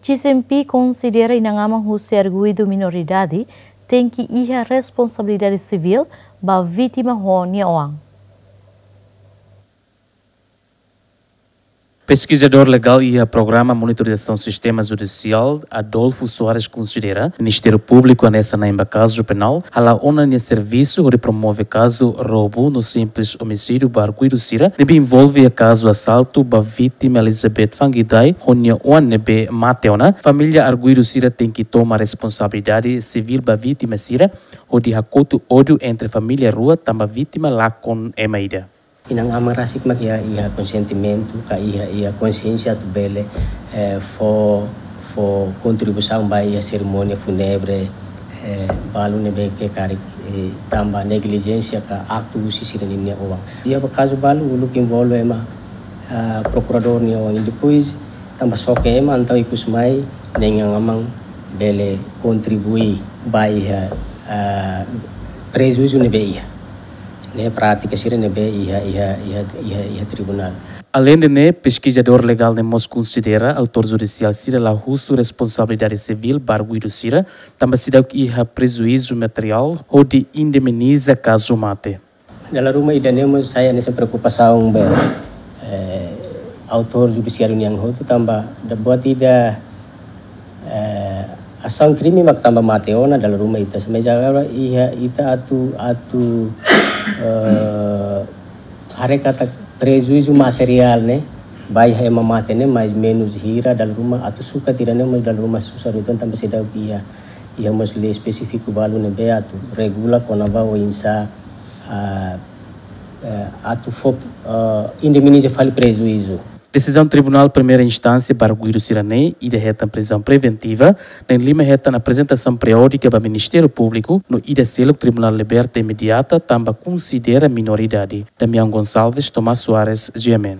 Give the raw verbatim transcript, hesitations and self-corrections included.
G C M P konsidera inan-aman husi arguidu minoridade tenke iha responsabilidade sivíl ba vítima ho nia oan. Peskizadór legál iha Programa Monitorizasaun Sistema Judisiál, Adolfo Soares, konsidera Ministériu Públiku hanesan na'in ba kazu penál hala'o ona nia servisu hodi promove kazu roubu no simples omisídiu ba arguidu sira ne'ebé envolve iha kazu asaltu ba vítima Elizabeth Fangidai ho nia oan ne'ebé mate ona. Família arguidu sira tenke toma responsabilidade sivíl ba vítima sira hodi hakotu ódiu entre família rua tanba vítima lakon ema ida. Inan-aman rasik mak iha, iha konsentimento, ka iha, iha konsiénsia atu bele, eh, fó, fó kontribuisaun ba iha serimónia fúnebre, eh, balu ne'ebé ke karik, eh, tanba neglijénsia ka aktu husi sira-nia oan. Iha ba kazu balu uluk envolve ema, ah, prokuradór nia oan. Depois, tanba xoke ema, entaun ikusmai, ne'e inan-aman bele kontribui ba iha, ah, prejuízu ne'ebé iha. Ne'e prátika sira ne'ebé iha, iha, iha, iha, iha tribunál. Aleinde ne'e, peskizadór legál ne'e mós konsidera autór judisiál sira la husu responsabilidade sivíl ba arguidu sira, tanba seidauk iha prejuízu materiál hodi indemniza kazu mate. Dala ruma ida-ne'e mós sai hanesan preokupasaun ba, eh, autór judisiáriu nian hotu tanba da buat ida, eh, asaun krime mak tanba mate ona dala ruma ita. Mas agora iha ita atu, atu, eh, haree katak prejuízu materiál ne'e ba iha ema mate ne'e mais menus hira dala ruma atu sukat ida-ne'e mós dala ruma susar uitoan tanba seidauk iha, iha mós lei espesífiku balu ne'ebé atu regula kona-ba oinsá, ah, eh, atu fó, ah, indemniza fali prejuízu. Desizaun Tribunál Primeira Instánsia ba arguidu sira-ne'e, ida hetan prizaun preventiva, na'in-lima hetan aprezentasaun periódika ba Ministériu Públiku, no ida seluk tribunál liberta imediata tanba konsidera minoridade. Damião Gonçalves, Tomás Soares, G M N.